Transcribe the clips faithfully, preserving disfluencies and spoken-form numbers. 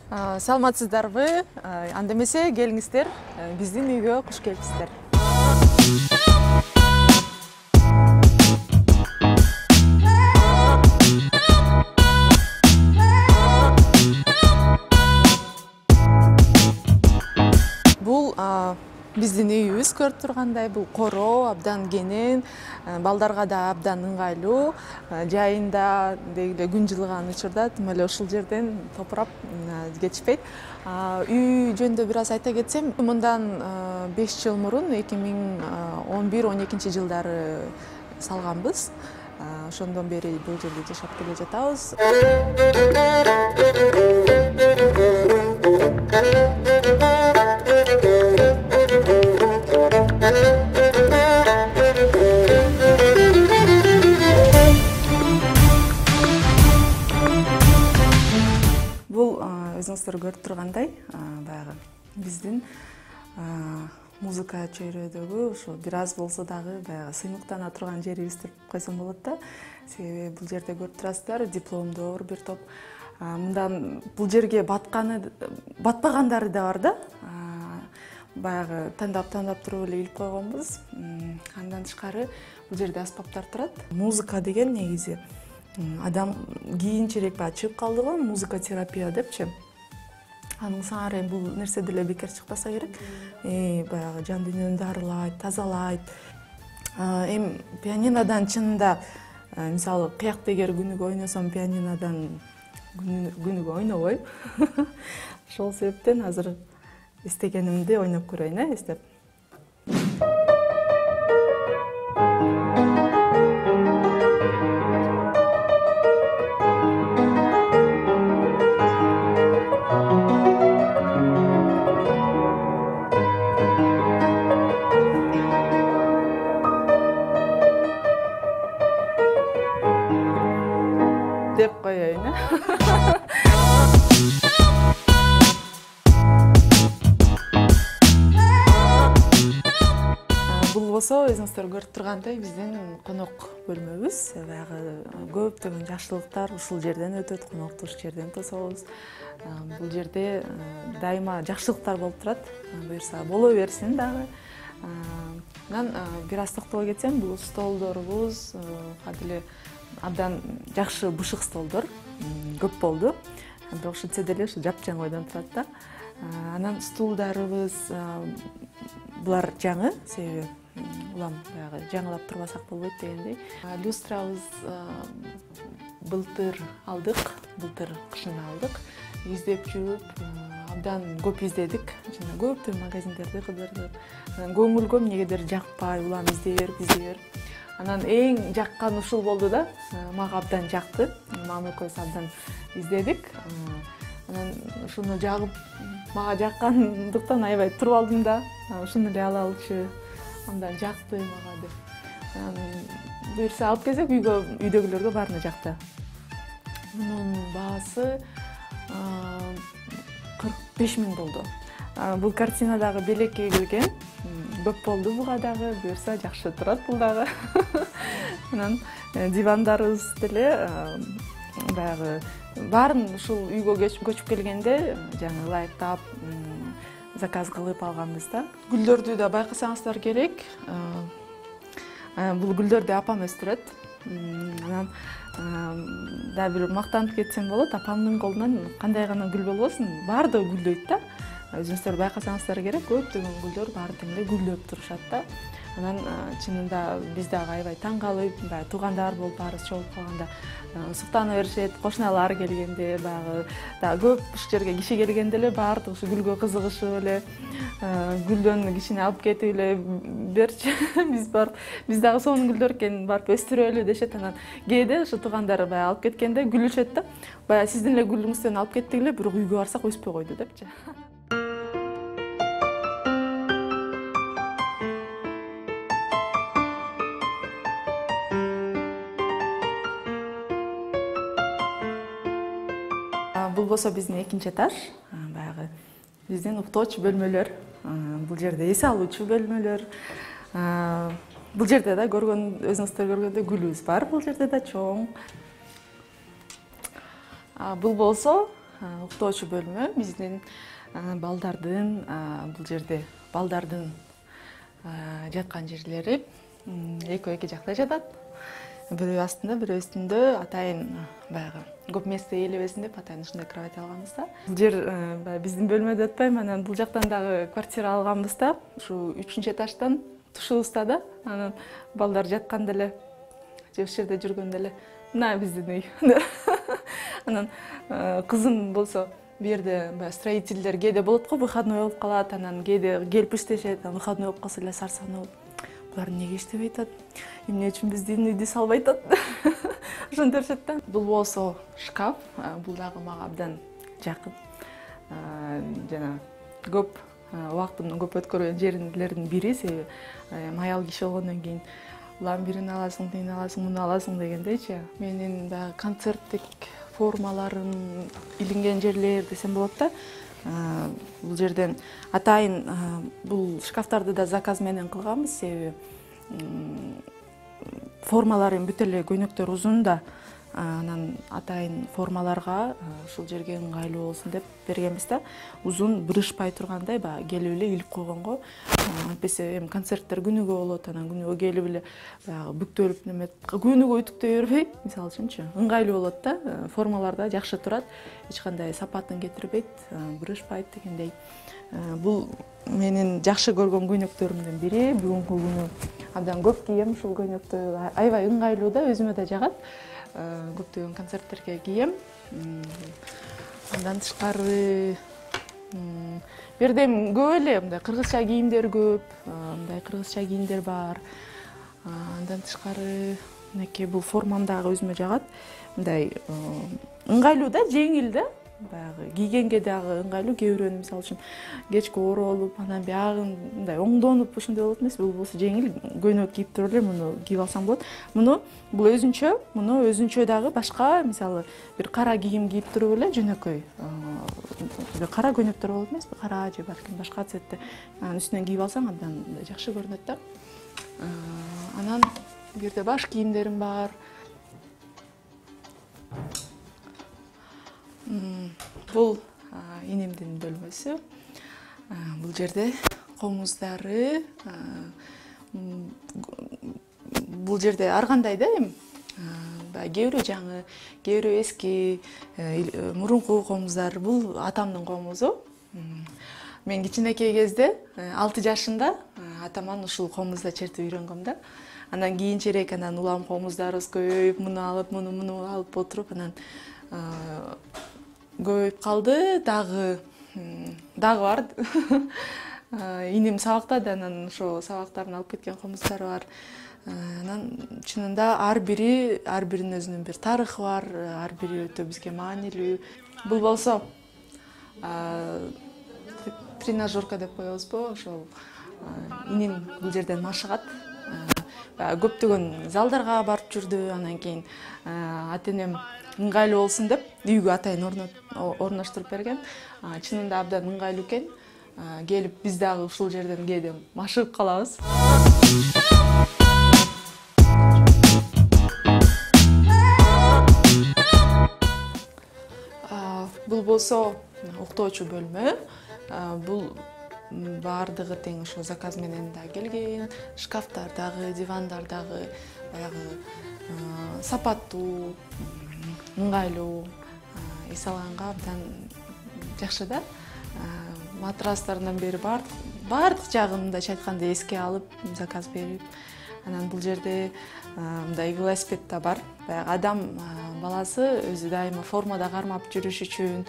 Саламатсыздарбы? Анда эмесе келиңиздер, биздин үйгө куш келипсиздер. Бул биздин үйүбүз, көрүп тургандай, бул короо, абдан кенен, балдарга да абдан ыңгайлуу. Жайында деги күн жылыган учурда тим эле ушул жерден топурап кетишпейт. Үй жөнүндө бир аз айта кетсем, мындан беш жыл мурун эки миң он бир он экинчи жылдары салганбыз. Ошондон бери бул жерде жашап келе жатабыз. Бул өзүңүздөр көрүп тургандай, баягы биздин музыка чөйрөдөгү ушу бир аз болсо дагы баягы сыймыктана турган жерибиз деп койсом болот да. Себеби бул жерде көрүп турасыздар, дипломдор бир топ. Мындан бул жерге батканы, батпагандары да бар да. Баягы тандап-тандап туруп эле илип койгонбуз. Андан тышкары бул жерде аспаптар турат. Музыка деген негизи адам кийинчерээк баягы чыгып калды го, музыка терапия депчи. Анын саары бул нерсе деле бекер чыкпаса керек. Баягы жан дүйнөнү дарылайт, тазалайт. Эми пианинодан чынында мисалы кыякты эгер күнүгө ойносом, пианинодан күнүгө ойнобойм. Ошол себептен азыр эстегенимди ойноп көрөйүн, э, эстеп. Деп коеюн, э. Бул болсо өзүңүздөр көрүп тургандай биздин конок бөлмөбүз. Баягы көптөгөн жакшылыктар ушул жерден өтөт, конокту ушул жерден тособуз. Бул жерде дайыма жакшылыктар болуп турат. Буюрса боло берсин дагы. Анан бир аз токтобой кетсем, бул столдорубуз кадим эле абдан жакшы бышык столдор, көп болду. Бирок ушинтсе деле ушу жапжаң ойдон турат да. Анан стулдарыбыз булар жаңы, себеби улам баягы жаңылап турбасак болбойт дегендей. Люстрабыз былтыр алдык, былтыр кышында алдык. Издеп жүрүп, абдан көп издедик. Жана көптөгөн магазиндерди кыдырдык. Анан көңүлгө эмнегедир жакпай, улам издей берип, издей берип. Анан эң жаккан ушул болду да. Мага абдан жакты. Мама экөөбүз абдан издедик. Анан ушуну жагып, мага жаккандыктан аябай туруп алдым да. Ушуну эле алалычы, андан жакты мага деп. Буюрса алып келсек, үйгө, үйдөгүлөргө баарына жакты. Мунун баасы кырк беш миң болду. Бул картина дагы белекке келген. Көп болду буга дагы, буюрса жакшы турат бул дагы. Анан дивандарыбыз деле баягы баарын ушул үйгө көчүп келгенде жаңы ылайыктап заказ кылып алганбыз да. Гүлдөрдү да байкасаңыздар керек. Бул гүлдөрдү апам өстүрөт. Анан да бир мактанып кетсем болот, апамдын колунан кандай гана гүл болбосун, баардыгы гүлдөйт да. Өзүңүздөр байкасаңыздар керек, көптөгөн гүлдөр баары тең эле гүлдөп турушат да. Анан чынында биз дагы аябай таң калып, баягы туугандар болуп баарыбыз чогулуп калганда суктана беришет, кошуналар келгенде, баягы дагы көп ушул жерге киши келгенде эле баардыгы ушу гүлгө кызыгышып эле, гүлдөн кичине алып кетип эле берчи, биз барып, биз дагы сонун гүлдөр экенин барып өстүрөлү дешет. Анан кээде ушу туугандар баягы алып кеткенде күлүшөт да. Баягы сиздин эле гүлүңүздөн алып кеттик эле, бирок үйгө барсак өспөй койду депчи. Бул болсо биздин экинчи этаж, баягы биздин уктоочу бөлмөлөр. Бул жерде эс алуучу бөлмөлөр. Бул жерде да көргөн, өзүңүздөр көргөндөй гүлүбүз бар. Бул жерде да чоң. Бул болсо уктоочу бөлмө биздин балдардын бул жерде балдардын жаткан жерлери экөө эки жакта жатат. Бирөө астында, бирөө үстүндө. Атайын баягы көп место ээлебесин деп атайын ушундай кровать алганбыз да. Бул жер баягы биздин бөлмө деп атпайм, анан бул жактан дагы квартира алганбыз да. Ушу үчүнчү этаждан тушубузда да. Анан балдар жатканда эле же ушул жерде жүргөндө эле мына биздин үй. Анан кызым болсо бу жерде баягы строительдер кээде болот го, выходной болуп калат, анан кээде келип иштешет, анан выходной болуп калса эле сарсанып, булар эмнеге иштебей атат, эмне үчүн биздин үйдү салбай атат, ошентип беришет да. Бул болсо шкаф, бул дагы мага абдан жакын. Жана көп убактымдын көп өткөргөн жерлердин бири, себеби аял киши болгондон кийин улам бирин аласың, тигини аласың, муну аласың дегендейчи. Менин баягы концерттик формаларым илинген жерлер десем болот да. Бул жерден атайын бул шкафтарды да заказ менен кылганбыз, себеби формаларым бүт эле көйнөктөр узун да, анан атайын формаларга ушул жерге ыңгайлуу болсун деп бергенбиз да. Узун бырышпай тургандай баягы келип эле илип койгонго, антпесе эми концерттер күнүгө болот, анан күнүгө келип эле баягы бүктөлүп неметип, күнүгө үтүктөй бербей, мисалы үчүнчү, ыңгайлуу болот да. Формалар да жакшы турат, эч кандай сапатын кетирбейт, бырышпайт дегендей. Бул менин жакшы көргөн көйнөктөрүмдүн бири. Бүгүнкү күнү абдан көп кийем ушул көйнөктү, аябай ыңгайлуу да, өзүмө да жагат. Көптөгөн концерттерге кийем. Андан тышкары бу жерде көп эле мындай кыргызча кийимдер көп, мындай кыргызча кийимдер бар. Андан тышкары мынакей бул формам дагы өзүмө жагат. Мындай ыңгайлуу да, жеңил да. Баягы кийгенге дагы ыңгайлуу. Кээ бирөөнү мисалы үчүн кечке оролуп, анан биягын мындай оңдонуп ушундай болот эмес. Бул болсо жеңил көйнөк кийип туруп эле муну кийип алсаң болот. Муну бул өзүнчө, муну өзүнчө дагы башка, мисалы бир кара кийим кийип туруп эле жөнөкөй. Кара көйнөктөр болот эмеспи? Кара же балким башка цветте. Анан үстүнөн кийип алсаң абдан жакшы көрүнөт да. Анан бу жерде баш кийимдерим бар. Бул инемдин бөлмөсү. Бул жерде комуздары, бул жерде ар кандай да эми. Кээ бирөө жаңы, кээ бирөө эски, мурунку комуздар. Бул атамдын комузу. Мен кичинекей кезде алты жашында атаман ушул комузда чертип үйрөнгөм да. Анан кийинчерээк анан улам комуздарыбыз көбөйүп, муну алып, муну муну алып отуруп, анан көбөйүп калды. Дагы дагы бар. Инем сабактады, анан ошо сабактарын алып кеткен комуздары бар. Анан чынында ар бири, ар биринин өзүнүн бир тарыхы бар, ар бири өтө бизге маанилүү. Бул болсо тренажерка деп коебузбу, ошол инем бул жерден машыгат. Көптөгөн залдарга барып жүрдү, анан кийин ата-энем ыңгайлуу болсун деп үйгө атайын орноштуруп берген. Чынында абдан ыңгайлуу экен. Келип биз дагы ушул жерден кээде машыгып калабыз. Бул болсо уктоочу бөлмө. Бул баардыгы тең ошо заказ менен да келген. Шкафтар дагы, дивандар дагы баягы сапаттуу, ыңгайлуу, эс алганга абдан жакшы да. Матрастарынан бери баардык жагын мындайча айтканда эске алып, заказ берип. Анан бул жерде мындай велосипед да бар. Баягы адам баласы өзү дайыма формада кармап жүрүш үчүн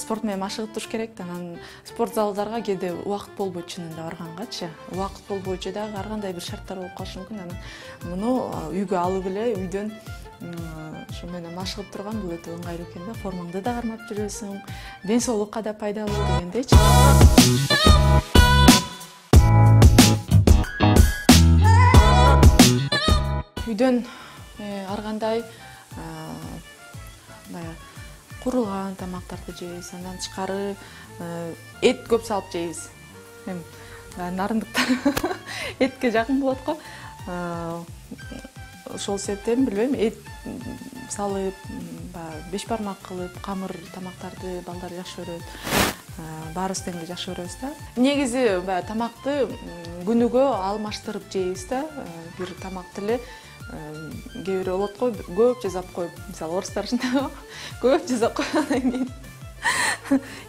спорт менен машыгып туруш керек. Анан спорт залдарга кээде убакыт болбойт чынында баргангачы. Убакыт болбойчу дагы ар кандай бир шарттар болуп калышы мүмкүн. Анан муну үйгө алып эле үйдөн ошо менен машыгып турган бул өтө ыңгайлуу экен да. Формаңды да кармап жүрөсүң, ден соолукка да пайдалуу дегендейчи. Үйдөн ар кандай курулган тамактарды жейбиз. Андан тышкары эт көп салып жейбиз. Эми нарындыктар этке жакын болот го. Ошол себептен билбейм, эт салып, баягы беш бармак кылып камыр тамактарды балдар жакшы көрөт. Баарыбыз тең эле жакшы көрөбүз да. Негизи баягы тамакты күнүгө алмаштырып жейбиз да. Бир тамакты эле кээ бирөө болот го, көп жасап коюп, мисалы орустар ушундай го, көп жасап койгондон кийин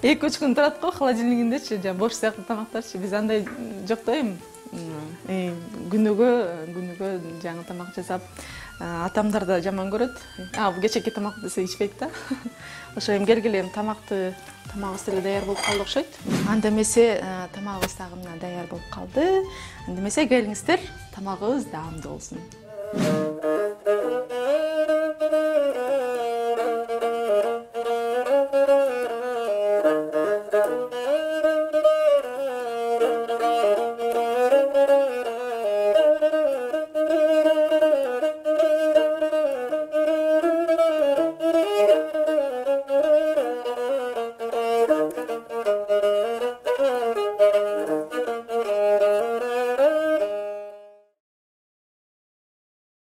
эки үч күн турат го холодильнигиндечи, жана борщ сыяктуу тамактарчы. Биз андай жок да эми. Күнүгө күнүгө жаңы тамак жасап, атамдар да жаман көрөт. А, бул кечеки тамак десе ичпейт да. Ошо эми келгиле эми тамакты тамагыбыз деле даяр болуп калды окшойт. Анда эмесе тамагыбыз дагы мына даяр болуп калды. Анда эмесе келиңиздер, тамагыбыз даамдуу болсун.